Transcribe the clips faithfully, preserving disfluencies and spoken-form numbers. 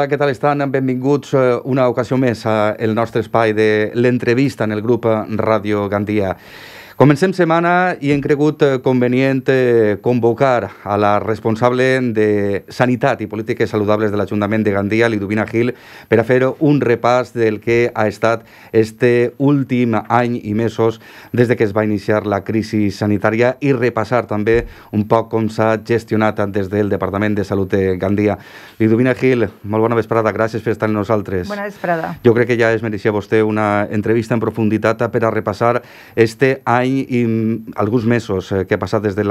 Hola, què tal estan? Benvinguts una ocasió més al nostre espai de l'entrevista en el grup Ràdio Gandia. Comencem setmana i hem cregut convenient convocar a la responsable de Sanitat i Polítiques Saludables de l'Ajuntament de Gandia, Liduvina Gil, per a fer un repàs del que ha estat este últim any i mesos des de que es va iniciar la crisi sanitària i repassar també un poc com s'ha gestionat des del Departament de Salut de Gandia. Liduvina Gil, molt bona vesprada, gràcies per estar amb nosaltres. Bona vesprada. Jo crec que ja es mereixia vostè una entrevista en profunditat per a repassar este any i alguns mesos que ha passat des de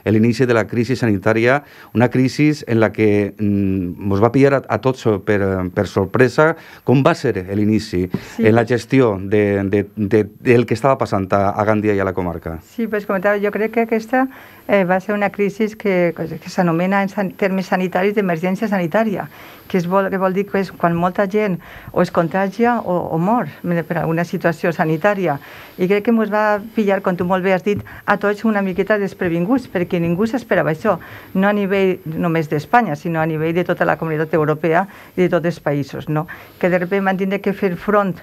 l'inici de la crisi sanitària, una crisi en la que ens va pillar a tots per, per sorpresa. Com va ser l'inici sí, en la gestió de, de, de, del que estava passant a, a Gandia i a la comarca? Sí, pues comentava, jo crec que aquesta eh, va ser una crisi que, que s'anomena en san, termes sanitaris d'emergència sanitària, que, es vol, que vol dir que és quan molta gent o es contagia o, o mor per alguna situació sanitària. I crec que ens va pillar, com tu molt bé has dit, a tots una miqueta desprevinguts, perquè ningú s'esperava això, no a nivell només d'Espanya, sinó a nivell de tota la comunitat europea i de tots els països, no? Que de sobte van tindre que fer front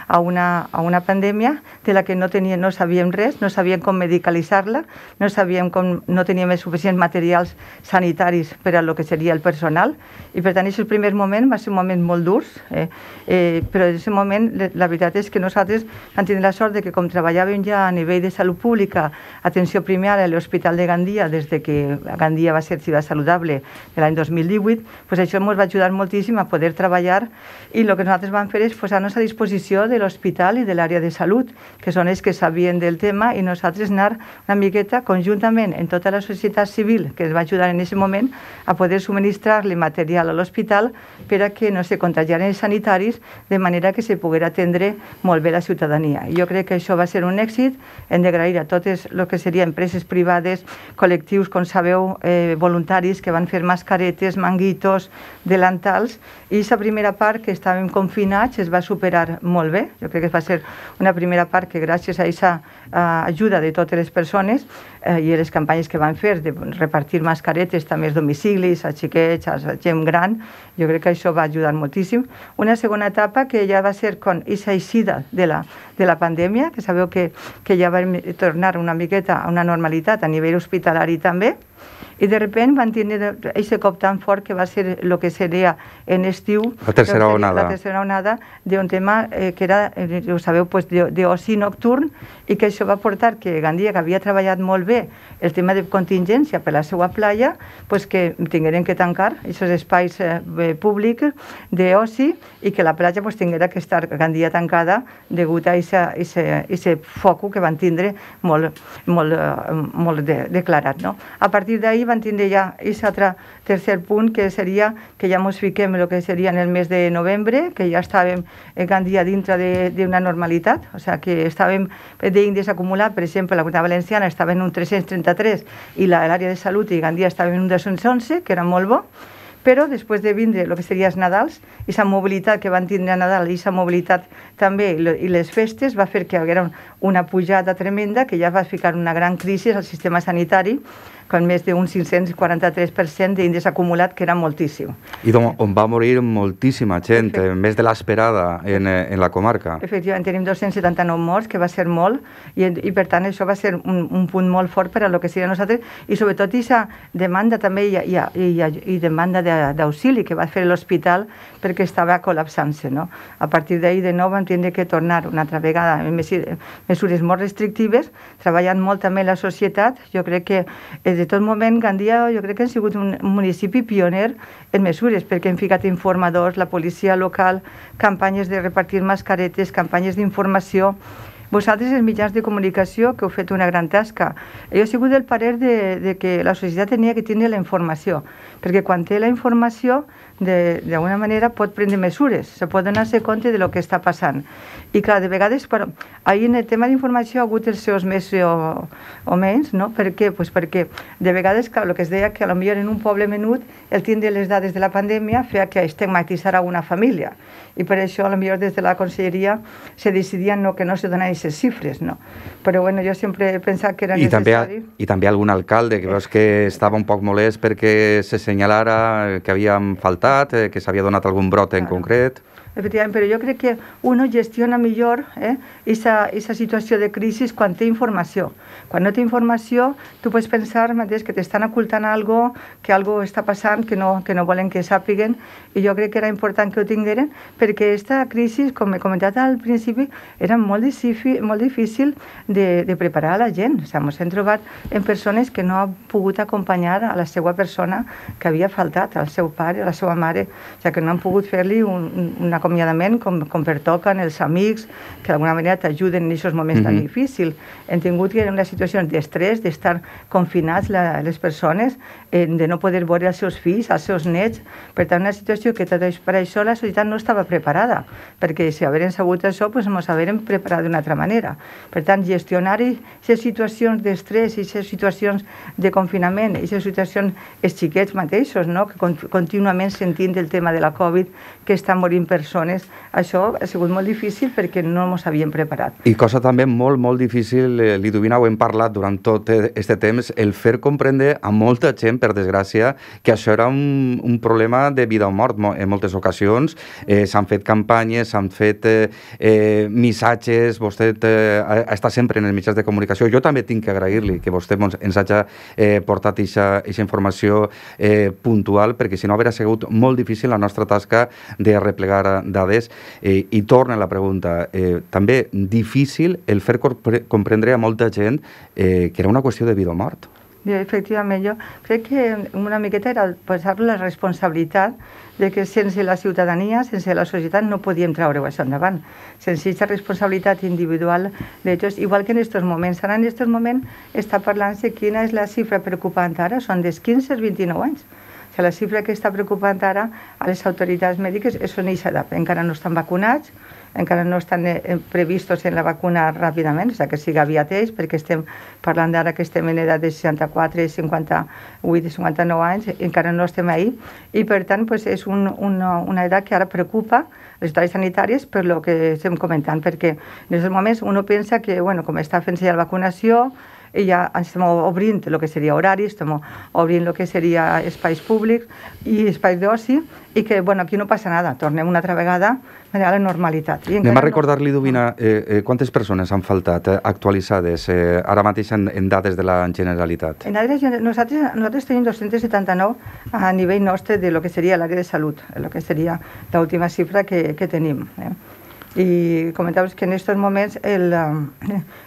a una, a una pandèmia de la que no, tenia, no sabíem res, no sabíem com medicalitzar-la, no sabíem com, no teníem els suficients materials sanitaris per a lo que seria el personal, i per tant, aquest primer moment va ser un moment molt dur, eh? Eh, però en aquest moment la veritat és que nosaltres vam tenir la sort de que com treballàvem ja a nivell de salut pública, atenció primària a l'Hospital de Gandia, des de que Gandia va ser ciutat saludable de l'any dos mil divuit, pues això ens va ajudar moltíssim a poder treballar, i el que nosaltres vam fer és posar-nos a disposició de l'hospital i de l'àrea de salut, que són els que sabien del tema, i nosaltres anar una miqueta conjuntament en tota la societat civil que ens va ajudar en aquest moment a poder subministrar-li material a l'hospital per a que no se contagiaren els sanitaris, de manera que se poguera atendre molt bé la ciutadania. I jo crec que això va ser un èxit. Hem d'agrair a totes el que serien empreses privades, col·lectius, com sabeu, eh, voluntaris que van fer mascaretes, manguitos, delantals, i aquesta primera part que estàvem confinats es va superar molt bé. Jo crec que va ser una primera part que gràcies a aquesta eh, ajuda de totes les persones eh, i a les campanyes que van fer de repartir mascaretes també als domicilis, als xiquets, a la gent gran, jo crec que això va ajudar moltíssim. Una segona etapa que ja va ser con aquesta eixida de la, de la pandèmia, que sabeu que, que ja vam tornar una miqueta a una normalitat a nivell hospitalari també, i de sobte van tindre aquest cop tan fort que va ser el que seria en estiu la tercera onada, la tercera onada d'un tema eh, que era, eh, ho sabeu, pues, d'oci nocturn, i que això va portar que Gandia, que havia treballat molt bé el tema de contingència per la seva playa, pues, que tingueren que tancar aquests espais eh, públics d'oci, i que la platja pues, tinguera que estar Gandia tancada degut a aquest foc que van tindre molt, molt, molt de, declarat. No? A partir d'ahir van tindre ja aquest altre tercer punt, que seria que ja ens fiquem el que seria en el mes de novembre, que ja estàvem en Gandia dintre d'una normalitat, o sigui que estàvem d'índex acumulat, per exemple, la Comunitat Valenciana estava en un tres-cents trenta-tres i l'àrea de salut i Gandia estava en un dos-cents onze, que era molt bo, però després de vindre el que seria els Nadals, i la mobilitat que van tindre a Nadal i la mobilitat també i les festes va fer que hi haguera una pujada tremenda que ja va ficar una gran crisi al sistema sanitari, con més d'un cinc-cents quaranta-tres per cent d'índex acumulat, que era moltíssim. I on va morir moltíssima gent, més de l'esperada en, en la comarca. Efectivament, tenim dos-cents setanta-nou morts, que va ser molt, i, i per tant això va ser un, un punt molt fort per a lo que seria nosaltres, i sobretot aquesta demanda també i, i, i, i demanda d'auxili que va fer l'hospital perquè estava col·lapsant-se. No? A partir d'ahir de nou vam tindre que tornar una altra vegada amb mesures molt restrictives, treballant molt també la societat. Jo crec que de tot moment, Gandia, jo crec que ha sigut un municipi pioner en mesures, perquè hem ficat informadors, la policia local, campanyes de repartir mascaretes, campanyes d'informació. Vosaltres, els mitjans de comunicació, que heu fet una gran tasca. Jo he sigut del parer de, de que la societat tenia que tenir la informació, perquè quan té la informació, d'alguna manera pot prendre mesures, se pot donar-se compte de lo que està passant. I clar, de vegades, però, ahir en el tema d'informació ha hagut els seus més o, o menys, no? Per què? Pues perquè de vegades, clar, el que es deia que potser en un poble menut el tindre les dades de la pandèmia feia que estigmatitzara una família, i per això potser des de la conselleria se decidia no, que no se donava aquestes xifres, no? Però bueno, jo sempre he pensat que era I necessari... També, I també algun alcalde que veus que estava un poc molest perquè se senyalara que havíem faltat, eh, que s'havia donat algun brot en Claro. concret. Efectivament, però jo crec que uno gestiona millor eh, esa, esa situació de crisi quan té informació. Quan no té informació, tu pots pensar mateix que t'estan ocultant algo, que algo està passant, que no, que no volen que sàpiguen, i jo crec que era important que ho tingueren, perquè aquesta crisi, com he comentat al principi, era molt difícil, molt difícil de, de preparar a la gent. O sigui, ens hem trobat en persones que no han pogut acompanyar a la seva persona que havia faltat, al seu pare, a la seva mare, o sigui, que no han pogut fer-li un, un acomiadament com, com pertoquen els amics, que d'alguna manera t'ajuden en aquests moments mm-hmm. tan difícils. Hem tingut que en una situació d'estrès, d'estar confinats la, les persones, eh, de no poder veure els seus fills, els seus nets. Per tant, una situació que tot per això la societat no estava preparada, perquè si hagueren sabut això, doncs ens hagueren preparat d'una altra manera. Per tant, gestionar aquestes situacions d'estrès, aquestes situacions de confinament, aquestes situacions, els xiquets mateixos, no? Que contínuament sentint el tema de la Covid, que estan morint persones, això ha sigut molt difícil perquè no ens havíem preparat. I cosa també molt, molt difícil, eh, Liduvina, ho hem parlat durant tot aquest temps, el fer comprendre a molta gent, per desgràcia, que això era un, un problema de vida o mort. En moltes ocasions eh, s'han fet campanyes, s'han fet eh, eh, missatges, vostè eh, està sempre en els mitjans de comunicació. Jo també tinc que agrair-li que vostè ens hagi eh, portat aquesta informació eh, puntual, perquè si no hauria sigut molt difícil la nostra tasca de replegar dades. Eh, I torna la pregunta, eh, també difícil el fer comprendre a molta gent eh, que era una qüestió de vida o mort. Efectivament, jo crec que una miqueta era posar la responsabilitat de que sense la ciutadania, sense la societat, no podíem treure això endavant. Sense aquesta responsabilitat individual d'ells, igual que en aquests moments. Ara en aquests moments està parlant-se quina és la xifra preocupant ara, són dels quinze als vint-i-nou anys. O sigui, la xifra que està preocupant ara a les autoritats mèdiques és on eixa edat. Encara no estan vacunats, encara no estan eh, previstos en la vacuna ràpidament, o sigui, que siga aviat ells, perquè estem parlant d'ara que estem en edat de seixanta-quatre, cinquanta-vuit, cinquanta-nou anys, encara no estem ahí, i per tant pues, és un, una, una edat que ara preocupa les autoritats sanitàries per lo que estem comentant, perquè en aquests moments uno pensa que, bueno, com està fent-se ja la vacunació, i ja estem obrint el que seria horaris, estem obrint el que seria espais públics i espais d'oci, i que, bueno, aquí no passa nada, tornem una altra vegada a la normalitat. Anem a recordar-li, Liduvina, eh, eh, quantes persones han faltat eh, actualitzades eh, ara mateix en, en dades de la Generalitat? En dades, nosaltres, nosaltres tenim dos-cents setanta-nou a nivell nostre de lo que seria l'àrea de salut, el que seria l'última xifra que, que tenim. Eh? I comentaves que en aquests moments el,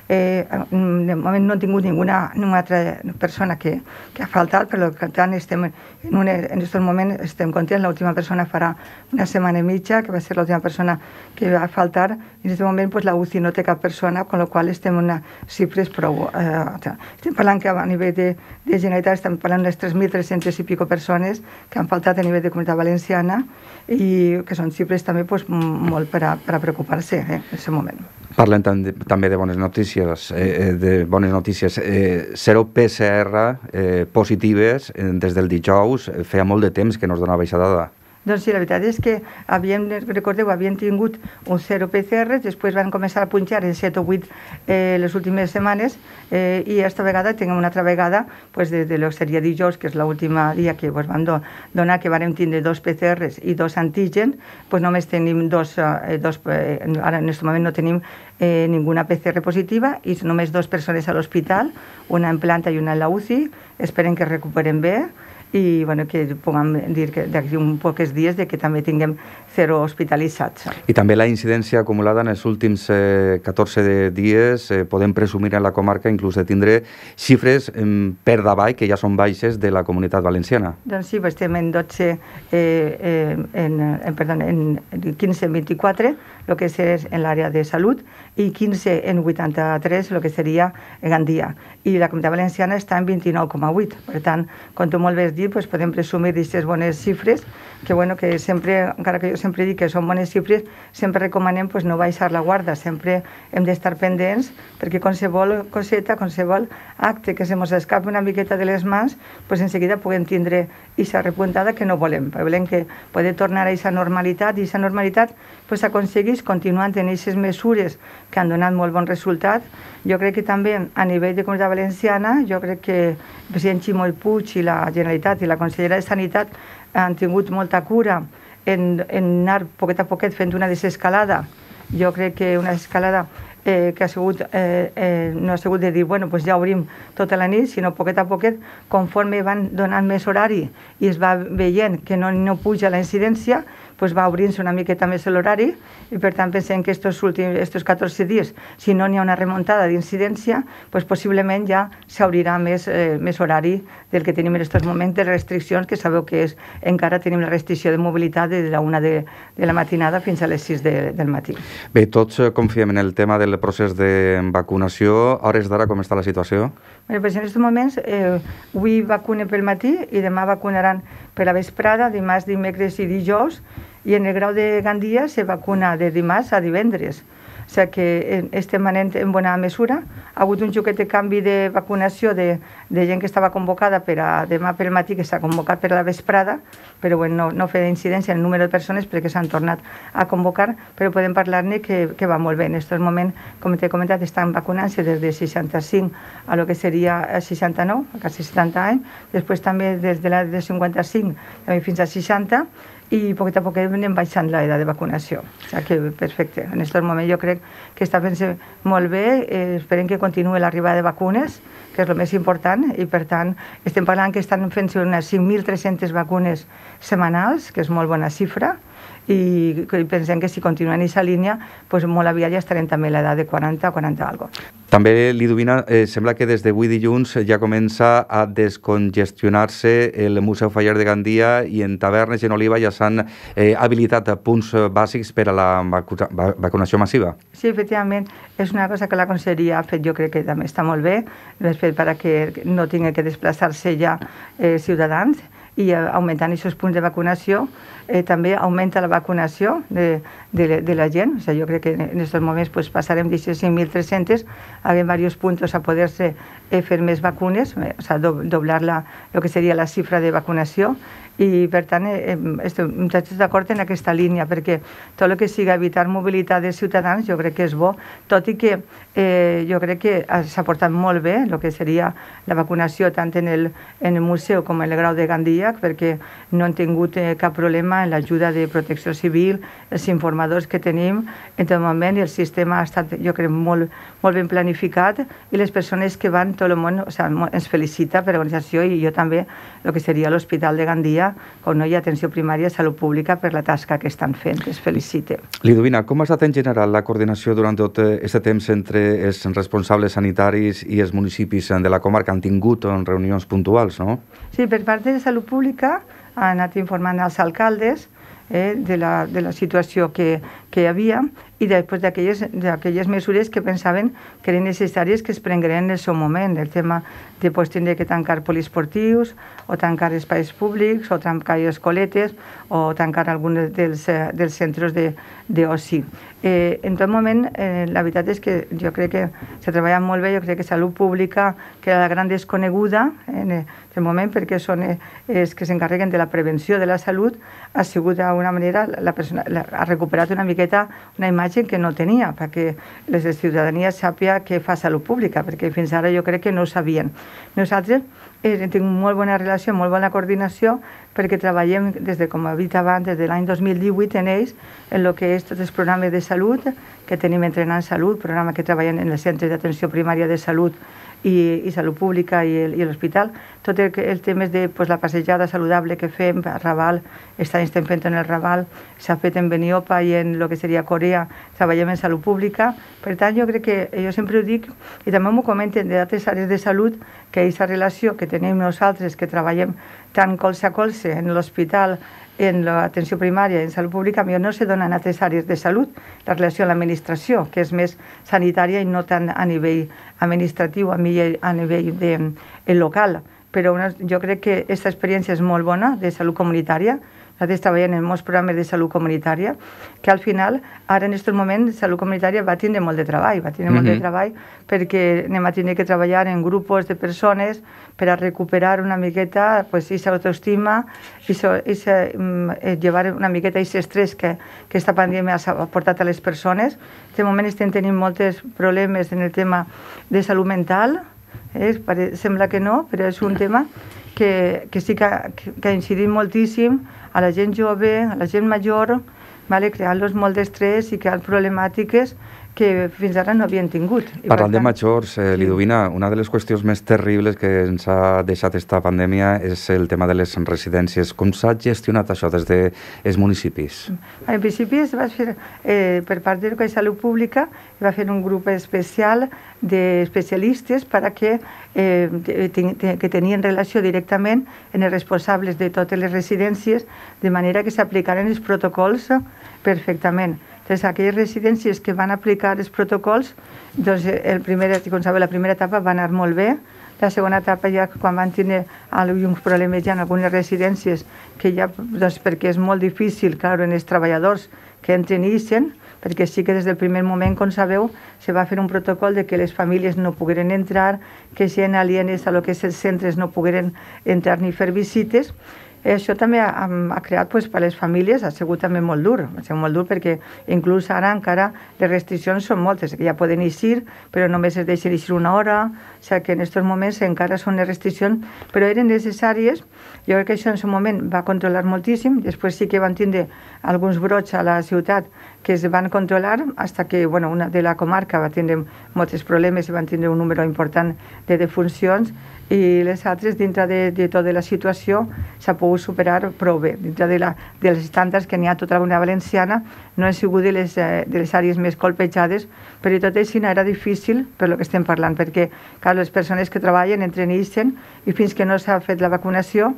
eh, de moment no hem tingut ninguna, ninguna altra persona que, que ha faltat, per tant estem en, un, en aquests moments estem contents. L'última persona farà una setmana i mitja, que va ser l'última persona que va faltar. En aquest moment pues, la U C I no té cap persona, amb la qual estem en unes xifres prou... Eh, estem parlant que a nivell de, de Generalitat estem parlant de tres mil tres-centes i pico persones que han faltat a nivell de Comunitat Valenciana i que són xifres també pues, molt per a, per a preocupar-se eh, en aquest moment. Parlem també de bones notícies. Eh, de bones notícies. Eh, zero P C R eh, positives eh, des del dijous. Feia molt de temps que no es donava aquesta dada. Doncs sí, la veritat és que havíem, recordeu, havíem tingut un zero P C R, després van començar a punxar en set o vuit eh, les últimes setmanes eh, i aquesta vegada tinguem una altra vegada pues, de, de lo que seria dijous, que és l'última dia que pues, van do, donar, que vam tindre dos P C Rs i dos antígens, pues, només tenim dos, eh, dos eh, ara en aquest moment no tenim eh, ninguna P C R positiva i només dues persones a l'hospital, una en planta i una en la U C I, esperen que recuperen bé i bueno, que puguem dir que d'aquí uns pocs dies de que també tinguem zero hospitalitzats. I també la incidència acumulada en els últims eh, catorze dies, eh, podem presumir en la comarca inclús de tindre xifres eh, per davall, que ja són baixes, de la Comunitat Valenciana. Doncs sí, estem en dotze, eh, eh, en, en, perdó, en quinze en vint-i-quatre, el que és en l'àrea de salut, i quinze en vuitanta-tres, el que seria Gandia. I la Comunitat Valenciana està en vint-i-nou coma vuit. Per tant, com tu molt bé has dit, allí pues, podem presumir d'aquestes bones xifres, que, bueno, que sempre, encara que jo sempre dic que són bones xifres, sempre recomanem pues, no baixar la guarda, sempre hem d'estar pendents, perquè qualsevol coseta, qualsevol acte que se mos escapi una miqueta de les mans, pues, en seguida puguem tindre aquesta repuntada que no volem. Volem que poder tornar a aquesta normalitat, i aquesta normalitat pues, s'aconsegueix continuant en aquestes mesures que han donat molt bon resultat. Jo crec que també a nivell de Comunitat Valenciana, jo crec que el president Ximo Puig i la Generalitat i la consellera de Sanitat han tingut molta cura en, en anar poquet a poquet fent una desescalada. Jo crec que una escalada eh, que ha sigut, eh, eh, no ha sigut de dir, bueno, pues ja obrim tota la nit, sinó poquet a poquet, conforme van donant més horari i es va veient que no, no puja la incidència, pues va obrint-se una miqueta més l'horari i per tant pensem que estos últims, estos catorze dies, si no n'hi ha una remuntada d'incidència, pues possiblement ja s'obrirà més, eh, més horari del que tenim en aquests moments de restriccions, que sabeu que és, encara tenim la restricció de mobilitat de la una de, de la matinada fins a les sis de, del matí. Bé, tots confiem en el tema del procés de vacunació. A hores d'ara, com està la situació? Bé, pues en aquests moments, eh, avui vacunen pel matí i demà vacunaran per la vesprada, dimarts, dimecres i dijous, i en el Grau de Gandia se vacuna de dimarts a divendres. O sigui que estem anant en bona mesura. Ha hagut un xoquet de canvi de vacunació de, de gent que estava convocada per a demà pel matí, que s'ha convocat per a la vesprada, però bueno, no, no feia incidència en el número de persones perquè s'han tornat a convocar, però podem parlar-ne que, que va molt bé. En aquest moment, com t'he comentat, estan vacunant-se des de seixanta-cinc a lo que seria seixanta-nou, a quasi setanta anys, després també des de l'edat de cinquanta-cinc també fins a seixanta, i poquet a poquet anem baixant l'edat de vacunació. O sigui que perfecte. En aquest moment jo crec que està fent-se molt bé, eh, esperem que continuï l'arribada de vacunes, que és el més important, i per tant estem parlant que estan fent-se unes cinc mil tres-centes vacunes setmanals, que és molt bona xifra, i pensem que si continuen en aquesta línia, doncs molt aviat ja estarem també a l'edat de quaranta o quaranta algo. També, Liduvina, eh, sembla que des d'avui dilluns ja comença a descongestionar-se el Museu Faller de Gandia i en tavernes i en Oliva ja s'han eh, habilitat punts bàsics per a la vacuna, vacunació massiva. Sí, efectivament, és una cosa que la Conselleria ha fet, jo crec que també està molt bé, l'ha fet perquè no tingui que desplaçar-se ja eh, ciutadans, i augmentant aquests punts de vacunació, eh, també augmenta la vacunació de, de, de la gent. O sigui, jo crec que en aquests moments pues, passarem de cinc mil tres-cents a diversos punts a poder-se eh, fer més vacunes, eh, o sigui, do, doblar la, el que seria la xifra de vacunació, i per tant eh, estem d'acord en aquesta línia, perquè tot el que sigui evitar mobilitat de ciutadans jo crec que és bo, tot i que eh, jo crec que s'ha portat molt bé el que seria la vacunació tant en el, en el museu com en el Grau de Gandia, perquè no han tingut eh, cap problema en l'ajuda de protecció civil, els informadors que tenim en tot moment, i el sistema ha estat jo crec molt, molt ben planificat, i les persones que van, tot el món, o sigui, ens felicita per l'organització, i jo també el que seria l'Hospital de Gandia, com no hi ha atenció primària de salut pública, per la tasca que estan fent, que es felicite. Liduvina, com ha estat en general la coordinació durant tot aquest temps entre els responsables sanitaris i els municipis de la comarca? Han tingut reunions puntuals, no? Sí, per part de salut pública ha anat informant als alcaldes eh, de, la, de la situació que, que hi havia, i després d'aquelles mesures que pensaven que eren necessàries que es prengueren en el seu moment. El tema de pues, tindre que tancar poliesportius, o tancar espais públics, o tancar escoletes, o tancar alguns dels, dels centres d'oci. Eh, en tot moment, eh, la veritat és que jo crec que s'ha treballat molt bé, jo crec que salut pública, que era la gran desconeguda en el moment, perquè són els que s'encarreguen de la prevenció de la salut, ha sigut d'alguna manera, la persona, la, ha recuperat una miqueta una imatge que no tenia, perquè la ciutadania sàpia què fa salut pública, perquè fins ara jo crec que no ho sabien. Nosaltres eh, tenim molt bona relació, molt bona coordinació, perquè treballem, des de, com he dit abans, des de l'any dos mil divuit en ells, en el que és tots els programes de salut, que tenim Entrenant Salut, programa que treballem en els centres d'atenció primària de salut i, i salut pública i l'hospital. Tot el, el tema de pues, la passejada saludable que fem a Raval, estem fent en el Raval, s'ha fet en Beniopa i en el que seria Corea, treballem en salut pública. Per tant, jo crec que, jo sempre ho dic, i també m'ho comenten d'altres àrees de salut, que aquesta relació que tenim nosaltres, que treballem tant colze a colze en l'hospital, en l'atenció primària i en salut pública, millor no se dona en altres àrees de salut, la relació amb l'administració, que és més sanitària i no tant a nivell administratiu, a nivell de, el local. però una, jo crec que aquesta experiència és molt bona de salut comunitària. Nosaltres treballem en molts programes de salut comunitària, que al final, ara en aquest moment, salut comunitària va tindre molt de treball, va tindre mm-hmm. molt de treball perquè anem a tenir que treballar en grups de persones per a recuperar una miqueta pues, aquesta autoestima i so, eh, llevar una miqueta aquest estrès que aquesta pandèmia ha portat a les persones. En aquest moment estem tenint molts problemes en el tema de salut mental, eh? Sembla que no, però és un tema que, que sí que, que ha incidit moltíssim a la gent jove, a la gent major, vale, creant-los molt d'estrès i creant problemàtiques que fins ara no havien tingut. I Parlant tant, de majors, eh, Liduvina, una de les qüestions més terribles que ens ha deixat esta pandèmia és el tema de les residències. Com s'ha gestionat això des dels municipis? En principi es va fer, eh, per part de Salut Pública, va fer un grup especial d'especialistes perquè eh, que tenien relació directament amb els responsables de totes les residències, de manera que s'aplicaren els protocols perfectament. Entonces, aquelles residències que van aplicar els protocols, doncs el primer, com sabeu, la primera etapa va anar molt bé. La segona etapa ja quan van tenir alguns problemes ja en algunes residències, que ja, doncs perquè és molt difícil, clar, en els treballadors que entren i ixen, perquè sí que des del primer moment, com sabeu, se va fer un protocol de que les famílies no pogueren entrar, que gent alienes a lo que és els centres no pogueren entrar ni fer visites. Això també ha, ha creat pues, per a les famílies, ha sigut també molt dur, ha sigut molt dur perquè inclús ara encara les restriccions són moltes, que ja poden eixir, però només es deixen eixir una hora, o sigui que en aquests moments encara són les restriccions, però eren necessàries. Jo crec que això en un moment va controlar moltíssim, després sí que van tindre alguns brots a la ciutat que es van controlar, fins que bueno, una de la comarca va tindre molts problemes i van tindre un número important de defuncions, i les altres, dintre de, de tota la situació, s'ha pogut superar prou bé. Dintre de, la, dels estàndards que n'hi ha a tota la Comunitat Valenciana, no han sigut de les, eh, de les àrees més colpejades, però tot així no era difícil per lo que estem parlant, perquè clar, les persones que treballen entren i ixen, i fins que no s'ha fet la vacunació,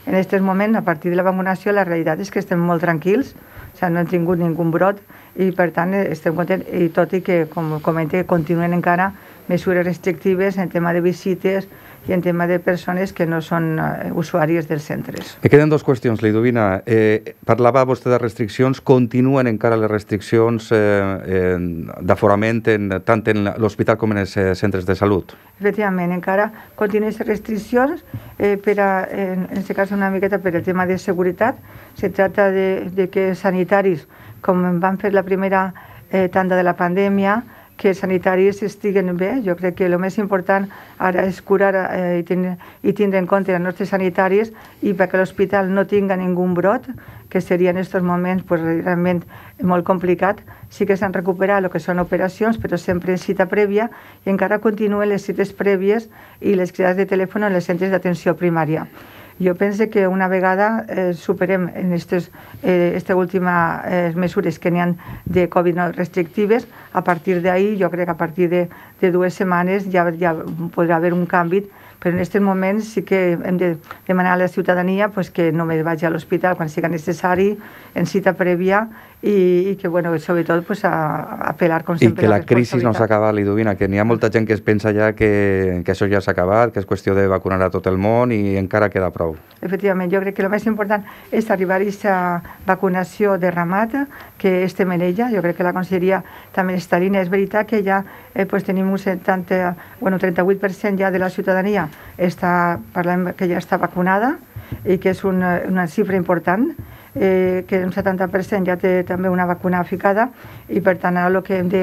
en aquest moment, a partir de la vacunació, la realitat és que estem molt tranquils, o sigui, no hem tingut ningú brot, i per tant estem contents, i tot i que, com comenté, continuen encara mesures restrictives en tema de visites i en tema de persones que no són uh, usuàries dels centres. Me queden dues qüestions, Liduvina. Eh, parlava vostè de restriccions, continuen encara les restriccions eh, eh, d'aforament tant en l'hospital com en els eh, centres de salut? Efectivament, encara continuen les restriccions, eh, per a, en aquest cas una miqueta per el tema de seguretat. Se tracta de, de que sanitaris, com van fer la primera eh, tanda de la pandèmia, que els sanitaris estiguen bé. Jo crec que el més important ara és curar eh, i, tindre, i tindre en compte els nostres sanitaris i perquè l'hospital no tinga ningú brot, que seria en aquests moments pues, realment molt complicat. Sí que s'han recuperat el que són operacions, però sempre en cita prèvia, i encara continuen les cites prèvies i les cridades de telèfon en els centres d'atenció primària. Jo penso que una vegada eh, superem en aquestes eh, últimes eh, mesures que n'hi ha de Covid restrictives, a partir d'ahir, jo crec que a partir de, de dues setmanes ja, ja podrà haver un canvi, però en aquests moments sí que hem de demanar a la ciutadania pues, que només vagi a l'hospital quan sigui necessari, en cita prèvia, i, i que, bueno, sobretot, pues, a, a apel·lar, com sempre, I que la crisi no s'ha acabat, Liduvina, que n'hi ha molta gent que es pensa ja que, que això ja s'ha acabat, que és qüestió de vacunar a tot el món i encara queda prou. Efectivament, jo crec que el més important és arribar a aquesta vacunació de ramat, que estem en ella. Jo crec que la Conselleria també està en línia. És veritat que ja eh, pues, tenim un setanta, bueno, trenta-vuit per cent ja de la ciutadania està, parlem que ja està vacunada, i que és una, una xifra important, eh, que un setanta per cent ja té també una vacuna ficada, i per tant ara el que hem de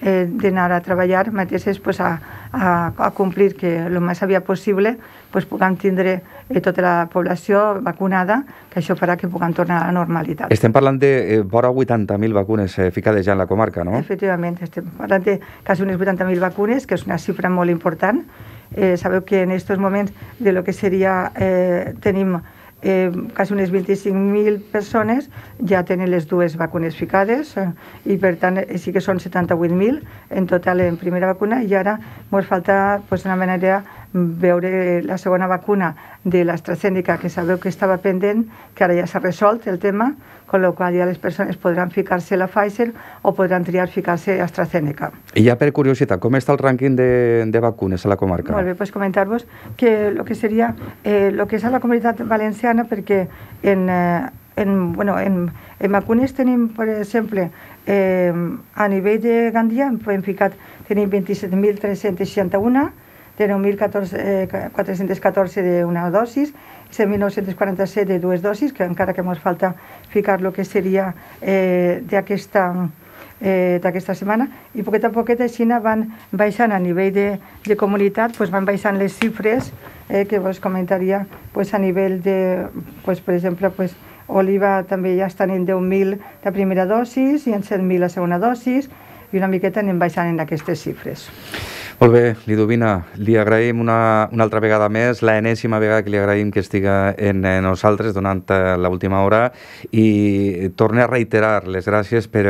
eh, d'anar a treballar mateix és pues, a, a, a complir que el més aviat possible pues, puguem tindre eh, tota la població vacunada, que això farà que puguem tornar a la normalitat. Estem parlant de eh, vora vuitanta mil vacunes eh, ficades ja en la comarca, no? Efectivament, estem parlant de quasi unes vuitanta mil vacunes, que és una xifra molt important. Eh, sabeu que en aquests moments de lo que seria, eh, tenim eh, quasi unes vint-i-cinc mil persones ja tenen les dues vacunes ficades, eh, i per tant eh, sí que són setanta-vuit mil en total en primera vacuna, i ara ens falta pues, una manera veure la segona vacuna de l'AstraZeneca, que sabeu que estava pendent, que ara ja s'ha resolt el tema, con lo qual ja les persones podran ficar-se la Pfizer o podran triar ficar-se AstraZeneca. I ja per curiositat, com està el rànquing de, de vacunes a la comarca? Molt bé, pues comentar-vos que el que seria, eh, lo que és a la Comunitat Valenciana, perquè en... Eh, En, bueno, en, en vacunes tenim, per exemple, eh, a nivell de Gandia, hem ficat, tenim vint-i-set mil tres-cents seixanta-un, de nou mil quatre-cents catorze d'una dosis, set mil nou-cents quaranta-set de dues dosis, que encara que ens falta ficar el que seria eh, d'aquesta eh, d'aquesta setmana, i poquet a poquet així van baixant a nivell de, de comunitat, pues van baixant les xifres eh, que vos comentaria pues, a nivell de, pues, per exemple, pues, Oliva també ja estan en deu mil la primera dosis i en set mil la segona dosis, i una miqueta anem baixant en aquestes xifres. Molt bé, Lidovina, li agraïm una, una altra vegada més, l'enèsima vegada que li agraïm que estiga en nosaltres donant l'última hora, i torne a reiterar les gràcies per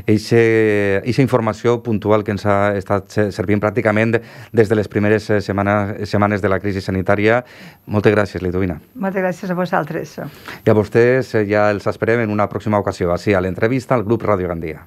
aquesta informació puntual que ens ha estat servint pràcticament des de les primeres setmanes, setmanes de la crisi sanitària. Moltes gràcies, Lidovina. Moltes gràcies a vosaltres. I a vostès ja els esperem en una pròxima ocasió, així a l'entrevista al grup Ràdio Gandia.